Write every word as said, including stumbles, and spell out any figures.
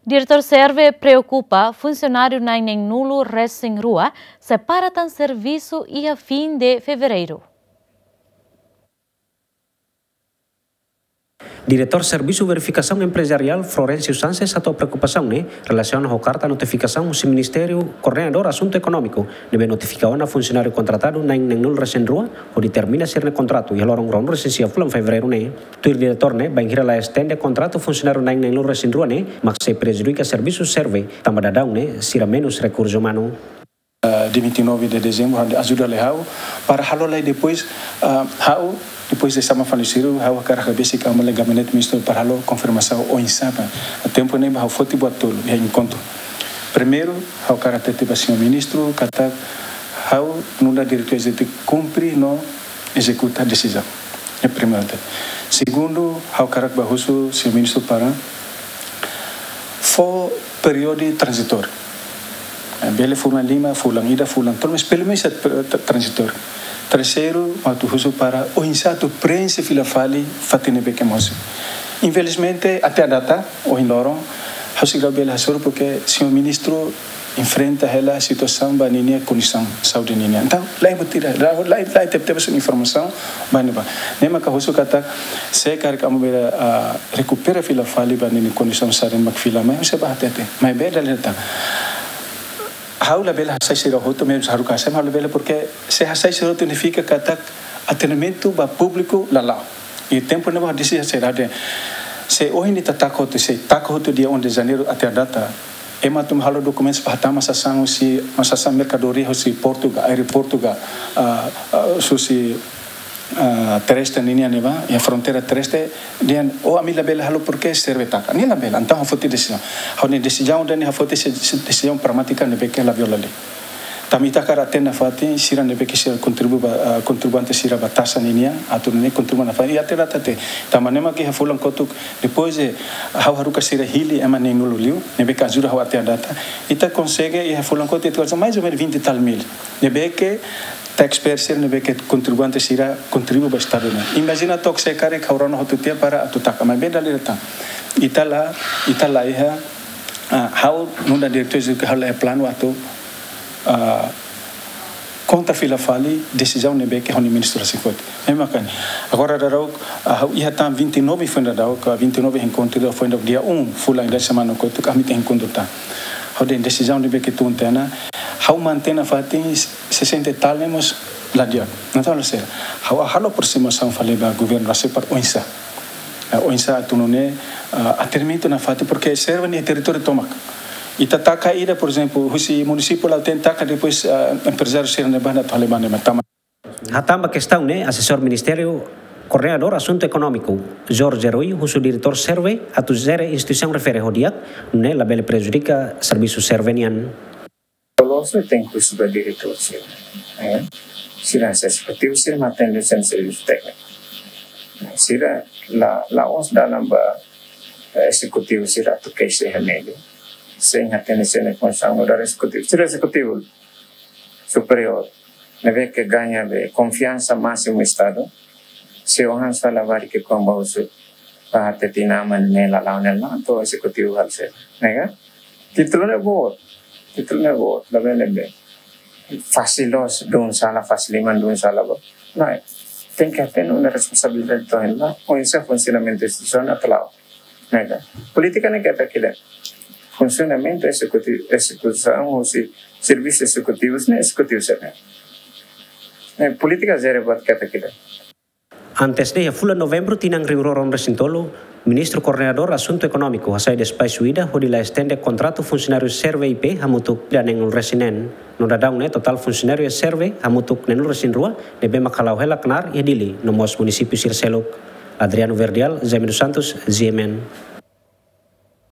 Diretór SERVE preokupa, funsionáriu na'in neenulu resin rua sei para tan servisu iha fim de fevereiru. Diretór Servisu Verifikasaun Emprezariál, Florencio Sanches, hato'o preokupasaun ne'e relasiona ho karta notifikasaun husi Ministériu Koordenadór Asuntu Ekonómiku, ne'ebé notifika ona funsionáriu kontratadu na'in neenulu resin rua hodi termina sira-nia kontratu iha loron ruanulu resin sia fulan fevereiru ne'e. Tuir diretór ne'e, bainhira la estende kontratu funsionáriu na'in neenulu resin rua ne'e, mak sei prejudika servisu SERVE, tanba daudaun ne'e sira menus rekursu umanu. Ah, dia vinte e nove de dezembro, ha'u ajuda lai ha'u, para halo lai depois, ah, ha'u, depois de sama fali sira, ha'u hakarak besik amu lai gabinete ministru para halo konfirmasaun oinsá ba. Tempu ne'ebá ha'u foti buat tolu iha enkontru. Primeiru, ha'u hakarak hatete ba señór ministru katak ha'u nu'udar diretór ezekutivu kumpre no ezekuta desizaun. É primeiru. Segundu, ha'u hakarak bá husu señór ministru para fó períodu tranzitóriu. Eh, bele fulan lima, fulan ida, fulan tolu, mas pelumenus atu tra-, tra-, tranzitóriu. Terseiru, atu husu para oinsá atu preenxe fila fali fatin ne'ebé ke mosu. Infelizmente, até à data, ohin loron, ha'u seidauk bele hasoru, porque señór ministru enfrenta hela situasaun ba ninia kondisaun saúde ninia. Entaun, la iha buat ida, la, la, la iha tebetebes informasaun ba ne'ebá. Ne'e mak ha'u husu katak, se karik amu bele, ah, rekupera fila fali ba ninia kondisaun saúde mak fila mai, ha'u sei bá hatete. Maibé dala ida tan. Ha'u labele hasai sira hotu, mezmu haruka hasai, ha'u labele, porque se hasai sira hotu nifiika katak atendimentu ba públiku la la'o. I tempu ne'ebá desi sira dehan, se ohin ita taka hotu, se taka hotu dia um de janeiro até à data, ema atu halo dokumentus para hatama sasán husi, sasán merkadoria husi portu ka, aeroportu ka, ah, ah, husi, ah, terrestre ninia ne'ebá, iha fronteira terrestre, dehan, oh, ami labele halo porque SERVE taka. Ne'e labele, entaun ha'u foti desizaun. Ha'u-nia desizaun ida-ne'e ha'u foti se, se desizaun pragmátika ne'ebé ke la viola lei. Tanba ita hakarak hatene nafatin sira ne'ebé ke sira kontribui ba, ah, kontribuinte sira ba taxa ninian, atu nune'e kontribui nafatin. I até data te, tanba ne'e mak iha fulan kotuk, depois de ha'u haruka sira hili ema neenulu liu, ne'ebé ke ajuda ha'u até à data. Ita konsege iha fulan kotuk, ita konsege mais ou menos vinte e tal mil. Ne'ebé ke taxpayer sira ne'ebé ke kontribuinte sira kontribui ba Estadu ne'e. Imajina took se karik ha'u rona hotu tiha para atu taka, maibé dala ida tan. Ita la, ita la iha, ah, ha'u nu'udar diretór ezekutivu ha'u la iha planu atu, ah, kontra fila fali desizaun ne'ebé ke ha'u-nia ministru rasik foti. Ne'e mak ne'e. Agora daudaun, ah, ha'u iha tan vinte e nove foin daudaun, ka vinte e nove enkontru foin daudaun dia um, fulan ida semana kotuk ami tenke enkontru tan. Ha'u dehan desizaun ne'ebé ke tun tiha ona, ha'u mantein nafatin sesenta e tal ne'e mós la di'ak. Entaun la sei. Ha'u halo aprosimasaun fali ba governu rasik para oinsá. Eh, oinsá atu nune'e, ah, atendimentu nafatin, porque SERVE ne'e territóriu tomak. Ita taka ida, por ezemplu, husi munisípiu la'o tenke taka, depois, ah, emprezáriu sira ne'ebá atu halo ba ne'e, tanba. Hatán ba kestaun ne'e, asesór Ministériu Koordenadór Asuntu Ekonómiku, Jorge Rui, husu diretór SERVE atu jere instituisaun refere ho di'ak, nune'e labele prejudika servisu SERVE nian. Loloos ne'e tenke husu ba diretór sira. Eh, sira ezekutivu sira mak atende sira servisu tékniku. Sira la, la'ós dalan ba, eh, ezekutivu sira atu keixa iha media. Sei hatene sira-nia funsaun nu'udar ezekutivu. Sira ezekutivu superiór ne'ebé ke gaña be konfiansa másimu Estadu. Se ohin sala bari ke komba husu ba hatete inan-aman ne'e la la'o ne'e la, entaun ezekutivu halo sá? Ne'e ka? Títulu ne'e boot. Títulu ne'e boot, labele be fasil loos, dun sala, fasil liman, dun sala ba. Lae, tenke hatene ona responsabilidade to'o ohin la, oinsá funsionamentu instituisaun atu la'o. Ne'e ka? Polítika ne'e keta kila. Funsionamentu ezekutivu, ezekusaun husi servisu ezekutivu ne'e ezekutivu sira-ne'e. Eh, polítika jere buat keta kila. Antes ne'e, iha fulan Novembru tinan rihun rua ruanulu resin tolu, Ministru Koordenadór Asuntu Ekonómiku hasai despaxu ida hodi la estende kontratu funsionáriu SERVE I P hamutuk ida neenulu resin neen. No daudaun ne'e totál funsionáriu SERVE hamutuk neenulu resin rua ne'ebé mak hala'o hela knaar iha Dili no mós munisípiu sira seluk. Adriano Verdial, Jaime dos Santos, G M N.